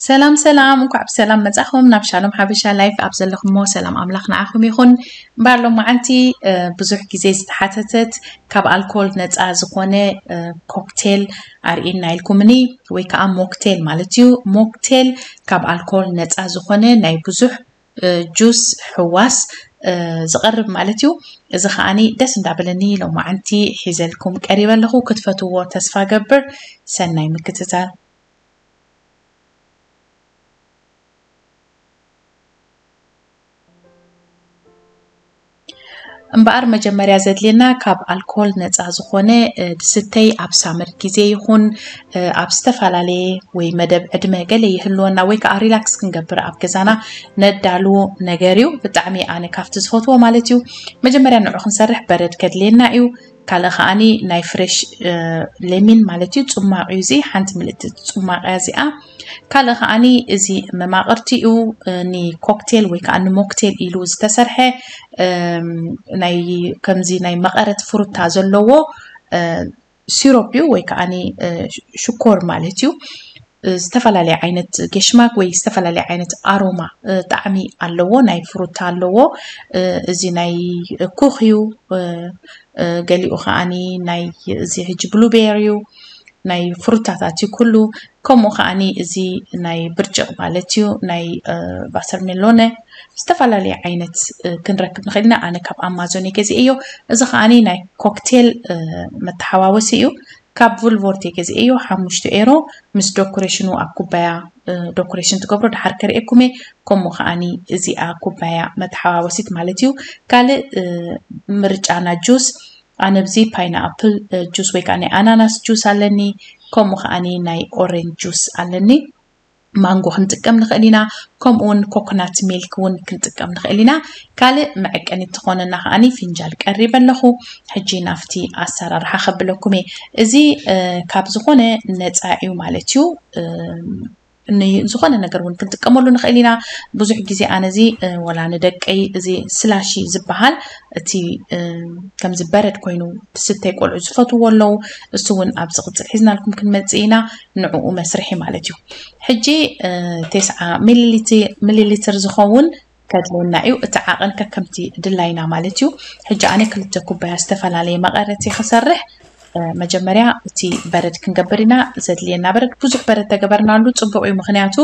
ሰላም ሰላም፣ እንኳዕ ብሰላም መጻኹም ናብ ሻሎም ሓበሻ ላይፍ። ኣብ ዘለኹሞ ሰላም ኣምላኽ ንዓኹም ይኹን። እምበኣር ሎማዓንቲ ብዙሕ ግዜ ዝተሓተተት ካብ ኣልኮል ነፃ ዝኾነ ኮክቴል ኣርእና ኢልኩምኒ፣ ወይ ከዓ ሞክቴል ማለት እዩ። ሞክቴል ካብ ኣልኮል ነፃ ዝኾነ ናይ ብዙሕ ጁስ ሕዋስ ዝቐርብ ማለት እዩ። እዚ ከዓኒ ደስ እንዳበለኒ ሎማዓንቲ ሒዘልኩም ቀሪበ ኣለኹ። ክትፈትዎ ተስፋ ገብር። ሰናይ ምክትታል። እምበኣር መጀመርያ ዘድልየና ካብ ኣልኮል ነፃ ዝኾነ ድስተይ ኣብ ሳመር ግዜ ይኹን ኣብ ዝተፈላለየ ወይ መደብ ዕድመ ገለ ይህልወና ወይ ከዓ ሪላክስ ክንገብር ኣብ ገዛና ነዳሉ ነገር እዩ። ብጣዕሚ ኣነ ካብቲ ዝፈትዎ ማለት እዩ። መጀመርያ ንዑ ክንሰርሕ በረድ ከድልየና እዩ። ካልእ ከዓኒ ናይ ፍሬሽ ሌሚን ማለት እዩ፣ ጽማቕ እዩ እዚ፣ ሓንቲ ምልእቲ ጽማቕ እያ እዚኣ። ካልእ ከዓኒ እዚ መማቕርቲኡ ንኮክቴል ወይ ከዓ ንሞክቴል ኢሉ ዝተሰርሐ ናይ ከምዚ ናይ መቐረት ፍሩታ ዘለዎ ሲሮፕ እዩ ወይ ከዓኒ ሽኮር ማለት እዩ። ዝተፈላለየ ዓይነት ጌሽማክ ወይ ዝተፈላለየ ዓይነት ኣሮማ ጣዕሚ ኣለዎ። ናይ ፍሩታ ኣለዎ። እዚ ናይ ኩኽ እዩ። ገሊኡ ከዓኒ ናይ እዚ ሕጂ ብሉቤሪ እዩ። ናይ ፍሩታታት እዩ ኩሉ። ከምኡ ከዓኒ እዚ ናይ ብርጭቕ ማለት እዩ፣ ናይ ቫተርሜሎነ ዝተፈላለየ ዓይነት ክንረክብ ንኽእል ኢና። ኣነ ካብ ኣማዞን እየ ገዚኤዮ። እዚ ከዓኒ ናይ ኮክቴል መተሓዋወሲ እዩ። ካብ ቭልቮርት እየ ገዚኤዮ፣ ሓሙሽተ ኤሮ ምስ ዶኮሬሽኑ ኣብ ኩባያ ዶኮሬሽን ትገብሮ ድሓር ከርእየኩም እየ። ከምኡ ከዓኒ እዚኣ ኩባያ መተሓዋወሲት ማለት እዩ። ካልእ ምርጫና ጁስ ኣነ ኣብዚ ፓይናፕል ጁስ ወይ ከዓ ናይ ኣናናስ ጁስ ኣለኒ። ከምኡ ከዓኒ ናይ ኦሬንጅ ጁስ ኣለኒ። ማንጎ ክንጥቀም ንኽእል ኢና። ከምኡ እውን ኮኮናት ሚልክ እውን ክንጥቀም ንኽእል ኢና። ካልእ መዐቀኒ ትኾነና ከዓኒ ፊንጃል ቀሪበ ኣለኹ። ሕጂ ናብቲ ኣሰራርሓ ከብለኩም እየ። እዚ ካብ ዝኾነ ነፃ እዩ ማለት እዩ። ዝኾነ ነገር እውን ክንጥቀመሉ ንኽእል ኢና። ብዙሕ ግዜ ኣነ እዚ ወላ ንደቀይ እዚ ስላሺ ዝበሃል እቲ ከምዚ በረድ ኮይኑ ዝስተይ ቆልዑ ዝፈትዎ ኣለዉ። እሱ እውን ኣብ ዝቕፅል ሒዝናልኩም ክንመፅእ ኢና። ንዕኡ መስርሒ ማለት እዩ። ሕጂ ተስዓ ሚሊ ሊትር ዝኸውን ከድልየና እዩ። እቲ ዓቐን ከከምቲ ድላይና ማለት እዩ። ሕጂ ኣነ ክልተ ኩባያ ዝተፈላለየ መቐረት እየ ክሰርሕ። መጀመርያ እቲ በረድ ክንገብር ኢና። ዘድልየና በረድ ብዙሕ በረድ ተገበርናሉ ፅቡቕ እዩ። ምኽንያቱ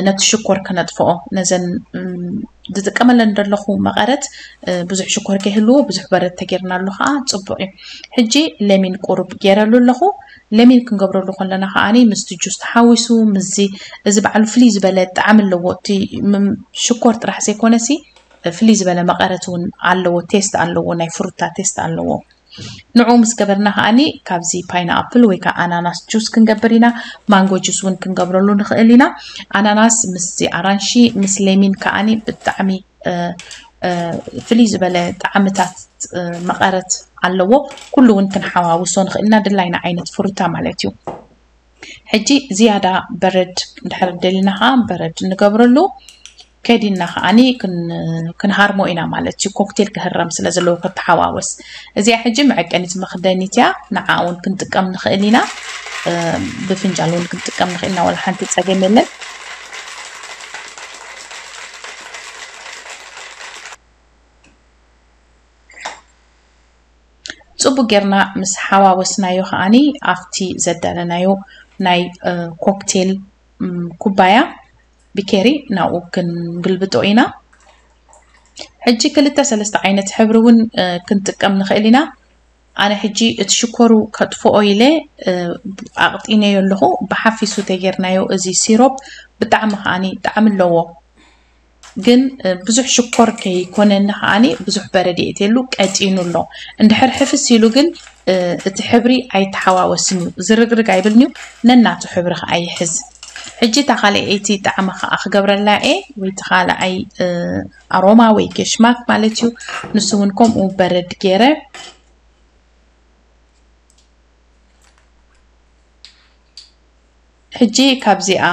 ነቲ ሽኮር ክነጥፍኦ ነዘን ዝጥቀመለን ዘለኹ መቐረት ብዙሕ ሽኮር ከይህልዎ ብዙሕ በረድ ተጌርናሉ ከዓ ፅቡቕ እዩ። ሕጂ ለሚን ቁሩብ ገይረሉ ኣለኹ። ለሚን ክንገብረሉ ከለና ከዓኒ ምስቲ ጁስ ተሓዊሱ ምስዚ እዚ ባዕሉ ፍልይ ዝበለ ጣዕሚ ኣለዎ። እቲ ሽኮር ጥራሕ ዘይኮነሲ ፍልይ ዝበለ መቐረት እውን ኣለዎ። ቴስት ኣለዎ፣ ናይ ፍሩታ ቴስት ኣለዎ። ንዑ ምስ ገበርና ከዓኒ ካብዚ ፓይናፕል ወይ ከዓ ኣናናስ ጁስ ክንገብር ኢና። ማንጎ ጁስ እውን ክንገብረሉ ንኽእል ኢና። ኣናናስ ምስዚ ኣራንሺ ምስ ሌሚን ከዓኒ ብጣዕሚ ፍልይ ዝበለ ጣዕምታት መቐረት ኣለዎ። ኩሉ እውን ክንሓዋውሶ ንኽእል ኢና፣ ድላይና ዓይነት ፍሩታ ማለት እዩ። ሕጂ ዝያዳ በረድ እንድሕር ደሊና ከዓ በረድ ንገብረሉ። ከዲና ከዓኒ ክንሃርሞ ኢና ማለት እዩ። ኮክቴል ክህረም ስለ ዘለዎ ክተሓዋወስ። እዚኣ ሕጂ መዐቀኒት መኽደኒት እያ። ንዓ እውን ክንጥቀም ንኽእል ኢና። ብፍንጃል እውን ክንጥቀም ንኽእል ኢና። ወላ ሓንቲ ፀገም የለን። ፅቡቅ ጌርና ምስ ሓዋወስናዮ ከዓኒ ኣብቲ ዘዳለናዮ ናይ ኮክቴል ኩባያ ቢኬሪ ናብኡ ክንግልብጦ ኢና። ሕጂ ክልተ ሰለስተ ዓይነት ሕብሪ እውን ክንጥቀም ንኽእል ኢና። ኣነ ሕጂ እቲ ሽኮሩ ከጥፍኦ ኢለ ኣቕጢነዮ ኣለኹ። ብሓፊሱ ተጌርናዮ እዚ ሲሮፕ ብጣዕሚ ከዓኒ ጣዕሚ ኣለዎ። ግን ብዙሕ ሽኮር ከይኮነኒ ከዓኒ ብዙሕ በረድ የእትየሉ ቀጢኑ ኣሎ። እንድሕር ሕፍስ ኢሉ ግን እቲ ሕብሪ ኣይተሓዋወስን እዩ፣ ዝርግርግ ኣይብልን እዩ፣ ነናቱ ሕብሪ ከዓ ይሕዝ። ሕጂ እታ ካልኣይቲ ጣዕሚ ከዓ ክገብረላ እየ፣ ወይ እቲ ካልኣይ ኣሮማ ወይ ጌሽማክ ማለት እዩ። ንሱ እውን ከምኡ በረድ ገይረ ሕጂ ካብዚኣ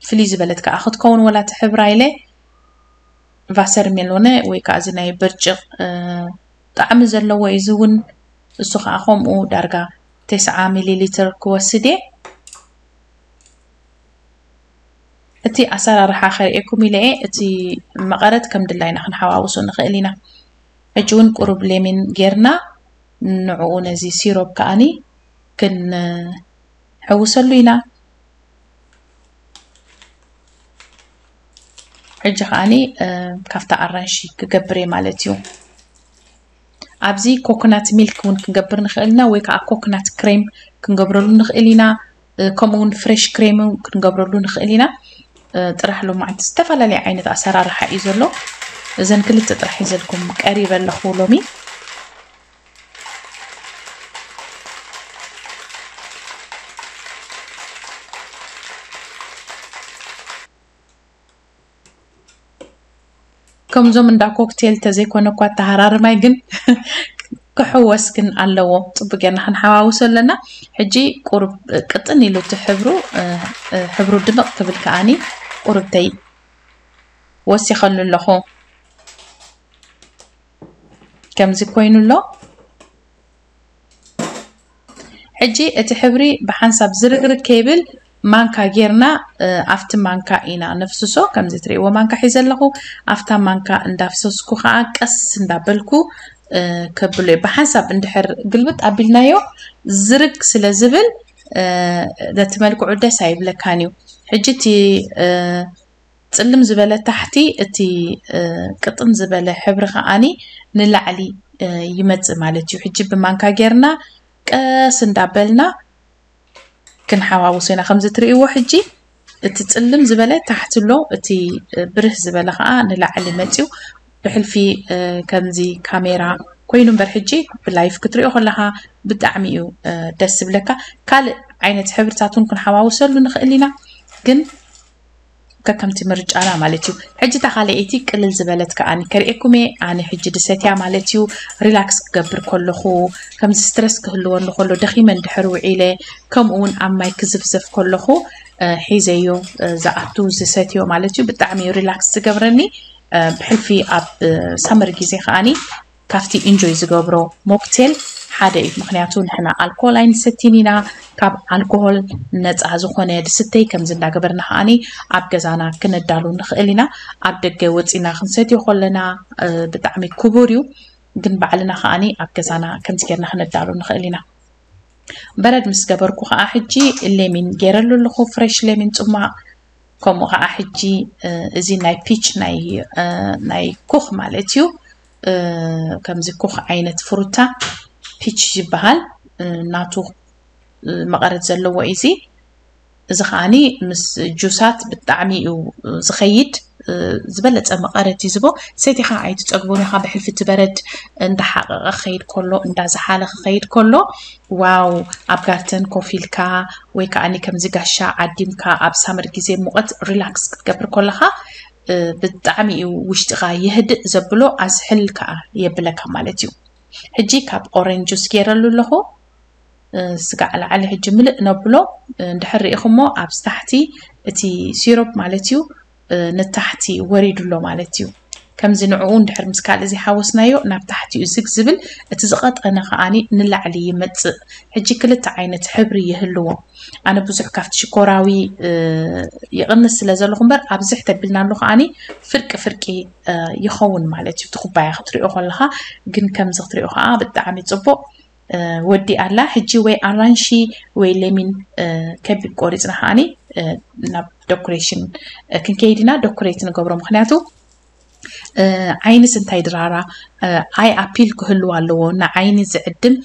ፍልይ ዝበለት ከዓ ክትከውን ወላ ትሕብራ ኢለ ቫሰር ሜሎነ ወይ ከዓ እዚ ናይ ብርጭቕ ጣዕሚ ዘለዎ እዩ። እዚ እውን እሱ ከዓ ከምኡ ዳርጋ ተስዓ ሚሊ ሊትር ክወስድ እየ። እቲ ኣሰራርሓ ከርእየኩም ኢለ እየ። እቲ መቐረት ከም ድላይና ክንሓዋውሶ ንኽእል ኢና። ሕጂ እውን ቁሩብ ሌሚን ጌርና ንዕኡ ነዚ ሲሮፕ ከኣኒ ክንሕውሰሉ ኢና። ሕጂ ከኣኒ ካብታ ኣራንሺ ክገብር እየ ማለት እዩ። ኣብዚ ኮኮናት ሚልክ እውን ክንገብር ንኽእል ኢና፣ ወይ ከዓ ኮኮናት ክሬም ክንገብረሉ ንኽእል ኢና። ከምኡ እውን ፍሬሽ ክሬም ክንገብረሉ ንኽእል ኢና። ጥራሕ ሎማዓንቲ ዝተፈላለየ ዓይነት ኣሰራርሓ እዩ ዘሎ። እዘን ክልተ ጥራሕ ሒዘልኩም ቀሪበ ኣለኹ ሎሚ። ከምዞም እንዳ ኮክቴል ተዘይኮነ እኳ ተሃራርማይ ግን ክሕወስ ግን ኣለዎ። ጽቡቅ ጌርና ክንሓዋውሶ ኣለና። ሕጂ ቁሩብ ቅጥን ኢሉ እቲ ሕብሩ ሕብሩ ድምቕ ክብል ከኣኒ ቁሩብተይ ወሲኸሉ ኣለኹ። ከምዚ ኮይኑ ኣሎ። ሕጂ እቲ ሕብሪ ብሓንሳብ ዝርግርግ ከይብል ማንካ ጌርና ኣብቲ ማንካ ኢና ነፍስሶ። ከምዚ ትርእይዎ ማንካ ሒዘ ኣለኹ። ኣብታ ማንካ እንዳፍሰስኩ ከዓ ቀስ እንዳበልኩ ከብሎ እየ። ብሓንሳብ እንድሕር ግልብጥ ኣቢልናዮ ዝርግ ስለ ዝብል ነቲ መልክዑ ደስ ኣይብለካን እዩ። ሕጂ እቲ ጽልም ዝበለ ታሕቲ፣ እቲ ቅጥን ዝበለ ሕብሪ ከኣኒ ንላዕሊ ይመጽእ ማለት እዩ። ሕጂ ብማንካ ጌርና ቀስ እንዳበልና ክንሓዋውሶ ኢና። ከምዚ ትርእይዎ ሕጂ እቲ ጽልም ዝበለ ታሕቲ ኣሎ፣ እቲ ብርህ ዝበለ ከዓ ንላዕሊ መጽዩ። ብሕልፊ ከምዚ ካሜራ ኮይኑ እምበር ሕጂ ብላይፍ ክትሪኦ ከለካ ብጣዕሚ እዩ ደስ ዝብለካ። ካልእ ዓይነት ሕብርታት እውን ክንሓዋውሰሉ ንኽእል ኢና፣ ግን ከከምቲ ምርጫና ማለት እዩ። ሕጂ እታ ካልኣይቲ ቅልል ዝበለት ከኣኒ ከርእየኩም እየ። ኣነ ሕጂ ድሰትያ ማለት እዩ። ሪላክስ ክገብር ከለኹ፣ ከምዚ ስትረስ ክህልወኒ ከሎ፣ ደኺመ እንድሕር ውዒለ፣ ከምኡ እውን ኣብ ማይ ክዝፍዘፍ ከለኹ ሒዘዮ ዝኣቱ ዝሰትዮ ማለት እዩ። ብጣዕሚ እዩ ሪላክስ ዝገብረኒ። ብሕልፊ ኣብ ሳመር ግዜ ከኣኒ ካብቲ ኢንጆይ ዝገብሮ ሞክቴል ሓደ እዩ። ምክንያቱ ንሕና ኣልኮል ኣይንሰቲን ኢና። ካብ ኣልኮሆል ነፃ ዝኾነ ድስተይ ከምዚ እንዳገበርና ከዓኒ ኣብ ገዛና ክነዳሉ ንኽእል ኢና። ኣብ ደገ ወፂና ክንሰትዮ ከለና ብጣዕሚ ክቡር እዩ፣ ግን ባዕልና ከዓኒ ኣብ ገዛና ከምዚ ጌርና ክነዳሉ ንኽእል ኢና። በረድ ምስ ገበርኩ ከዓ ሕጂ ሌሚን ገይረሉ ኣለኹ፣ ፍሬሽ ሌሚን ፅሟቕ። ከምኡ ከዓ ሕጂ እዚ ናይ ፒች ናይ ናይ ኩኽ ማለት እዩ። ከምዚ ኩኽ ዓይነት ፍሩታ ፒች ይበሃል። ናቱ መቐረት ዘለዎ እዩ። እዚ ከዓኒ ምስ ጁሳት ብጣዕሚ እዩ ዝኸይድ። ዝበለፀ መቐረት እዩ ዝቦ። ሰቲኻ ኣይትፀግቦን ኢኻ። ብሕልፊ እቲ በረድ እንዳሓቐቐ ክኸይድ ከሎ፣ እንዳዝሓለ ክኸይድ ከሎ፣ ዋው፣ ኣብ ጋርተን ኮፍ ኢልካ ወይ ከዓኒ ከምዚ ጋሻ ዓዲምካ ኣብ ሳመር ግዜ ሙቐት ሪላክስ ክትገብር ከለኻ ብጣዕሚ እዩ ውሽጥኻ የህድእ ዘብሎ። ኣዝሕል ከዓ የብለካ ማለት እዩ። ሕጂ ካብ ኦሬንጅ ጁስ ገይረሉ ኣለኹ። ስጋዕ ላዕሊ ሕጂ ምልእ ነብሎ። እንድሕር ርኢኹሞ ኣብዚ ታሕቲ እቲ ሲሮፕ ማለት እዩ ንታሕቲ ወሪዱ ኣሎ ማለት እዩ። ከምዚ ንዕኡ እንድሕር ምስ ካልእ ዘይሓወስናዮ ናብ ታሕቲ እዩ ዝግ ዝብል፣ እቲ ዝቐጠነ ከዓኒ ንላዕሊ ይመጽእ። ሕጂ ክልተ ዓይነት ሕብሪ ይህልዎ። ኣነ ብዙሕ ካብቲ ሽኮራዊ ይቕንስ ስለ ዘለኹ እምበር ኣብዝሕ ተቢልና ኣሎ ከዓኒ ፍርቂ ፍርቂ ይኸውን ማለት እዩ። እቲ ኩባያ ክትሪኦ ከለኻ ግን ከምዚ ክትሪኦ ከዓ ብጣዕሚ ጽቡቕ ወዲ ኣላ። ሕጂ ወይ ኣራንሺ ወይ ሌሚን ከቢብ ቆሪፅና ከዓኒ ናብ ዶኮሬሽን ክንከይድ ኢና። ዶኮሬት ንገብሮ ምክንያቱ ዓይንስ እንታይ ድራራ ኣይ ኣፒል ክህልው ኣለዎ። ንዓይኒ ዝዕድም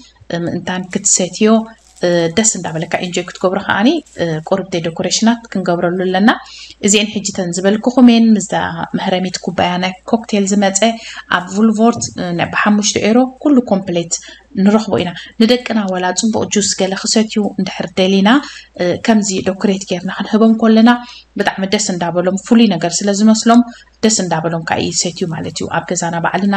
ምእንታን ክትሰትዮ ደስ እንዳበለካ ኢንጆይ ክትገብሮ ከዓኒ ቁርብተይ ዶኮሬሽናት ክንገብረሉ ኣለና። እዚአን ሕጂ ተን ዝበልኩኹም እየን። ምስዛ መህረሚት ኩባያ ናይ ኮክቴል ዝመፀ ኣብ ቡልቮርት ብሓሙሽተ ኤሮ ኩሉ ኮምፕሌት ንረኽቦ ኢና። ንደቅና ዋላ ፅቡቕ ጁስ ገለ ክሰትዩ እንድሕር ደሊና ከምዚ ዶኮሬት ጌርና ክንህቦም ከለና ብጣዕሚ ደስ እንዳበሎም፣ ፍሉይ ነገር ስለ ዝመስሎም ደስ እንዳበሎም ከዓ ይሰትዩ ማለት እዩ። ኣብ ገዛና ባዕልና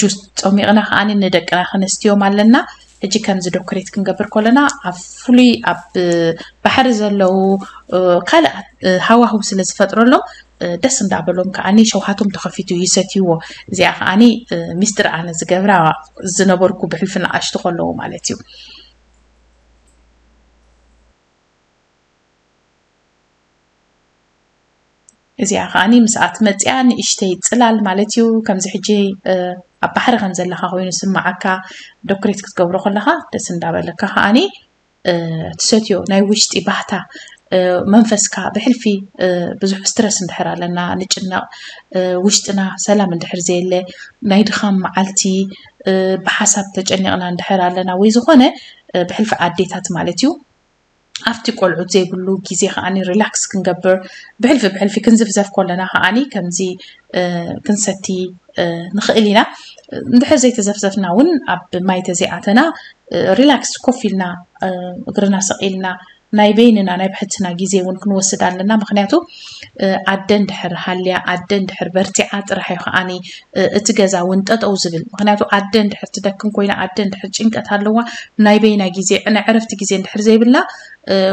ጁስ ፆሚቕና ከዓኒ ንደቅና ክነስትዮም ኣለና። ሕጂ ከምዚ ዶኮሬት ክንገብር ከለና ኣብ ፍሉይ ኣብ ባሕሪ ዘለዉ ካልኣት ሃዋህው ስለ ዝፈጥረሎም ደስ እንዳበሎም ከዓኒ ሸውሃቶም ተኸፊቱ ይሰትይዎ። እዚኣ ከዓኒ ሚስጥር ኣነ ዝገብራ ዝነበርኩ ብሕልፊ ንኣሽቱ ከለዉ ማለት እዩ። እዚኣ ከዓኒ ምስኣ ትመፅኣ ንእሽተይ ፅላል ማለት እዩ። ከምዚ ሕጂ ኣብ ባሕሪ ከም ዘለካ ኮይኑ ስማዓካ፣ ዶክሬት ክትገብሮ ከለካ ደስ እንዳበለካ ከዓኒ ትሰትዮ ናይ ውሽጢ ባህታ መንፈስካ ብሕልፊ ብዙሕ ስትረስ እንድሕር ኣለና ንጭነቕ፣ ውሽጥና ሰላም እንድሕር ዘየለ፣ ናይ ድኻም መዓልቲ፣ ብሓሳብ ተጨኒቕና እንድሕር ኣለና ወይ ዝኾነ ብሕልፊ ኣዴታት ማለት እዩ ኣብቲ ቆልዑት ዘይብሉ ግዜ ከዓኒ ሪላክስ ክንገብር ብሕልፊ ብሕልፊ ክንዝፍዘፍ ከለና ከዓኒ ከምዚ ክንሰቲ ንኽእል ኢና። እንድሕር ዘይተዘፍዘፍና እውን ኣብ ማይ ተዘይኣተና ሪላክስ ኮፍ ኢልና እግርና ሰቒልና ናይ በይንና ናይ ብሕትና ግዜ እውን ክንወስድ ኣለና። ምክንያቱ ኣደ እንድሕር ሃልያ ኣደ እንድሕር በርቲዓ ጥራሕ እዩ ከዓኒ እቲ ገዛ እውን ጠጠው ዝብል። ምክንያቱ ኣደ እንድሕር ትደክም ኮይና ኣደ እንድሕር ጭንቀት ኣለዋ ናይ በይና ግዜ ናይ ዕረፍቲ ግዜ እንድሕር ዘይብልና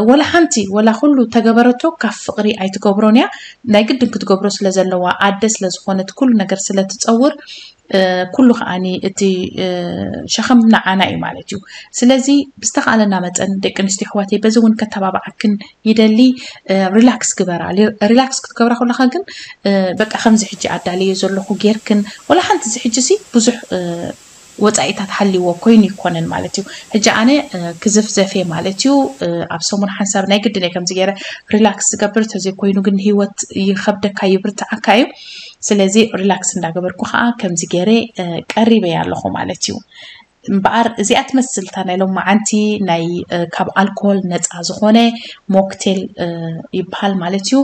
ወላ ሓንቲ ወላ ኩሉ ተገበረቶ ካብ ፍቕሪ ኣይትገብሮን እያ። ናይ ግድን ክትገብሮ ስለ ዘለዋ ኣደ ስለ ዝኾነት ኩሉ ነገር ስለ ትፀውር ኩሉ ከዓኒ እቲ ሸኸም ንዓና እዩ ማለት እዩ። ስለዚ ብዝተኻለና መጠን ደቂ ኣንስትዮ ኣሕዋተይ በዚ እውን ከተባብዓክን ይደሊ። ሪላክስ ግበራ። ሪላክስ ክትገብራ ከለካ ግን በቃ ከምዚ ሕጂ ኣዳልየ ዘለኹ ጌርክን ወላ ሓንቲ እዚ ሕጂ ሲ ብዙሕ ወፃኢታት ሃልይዎ ኮይኑ ይኮነን ማለት እዩ። ሕጂ ኣነ ክዝፍዘፍ እየ ማለት እዩ። ኣብ ሰሙን ሓንሳብ ናይ ግድን እየ ከምዚ ገይረ ሪላክስ ዝገብር፣ ተዘይኮይኑ ግን ህይወት ይኸብደካ ይብርትዓካ እዩ። ስለዚ ሪላክስ እንዳገበርኩ ከዓ ከምዚ ገይረ ቀሪበ ኣለኹ ማለት እዩ። እምበኣር እዚኣ ትመስል እታ ናይ ሎማዓንቲ ናይ ካብ ኣልኮል ነፃ ዝኾነ ሞክቴል ይበሃል ማለት እዩ።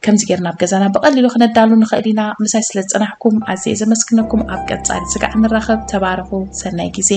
ከምዚ ጌርና ኣብ ገዛና ብቐሊሉ ክነዳሉ ንኽእል ኢና። ምሳይ ስለ ዝጸናሕኩም ኣዝየ ዘመስግነኩም። ኣብ ቀጻሊ ስጋዕ ንራኸብ። ተባረኹ። ሰናይ ግዜ።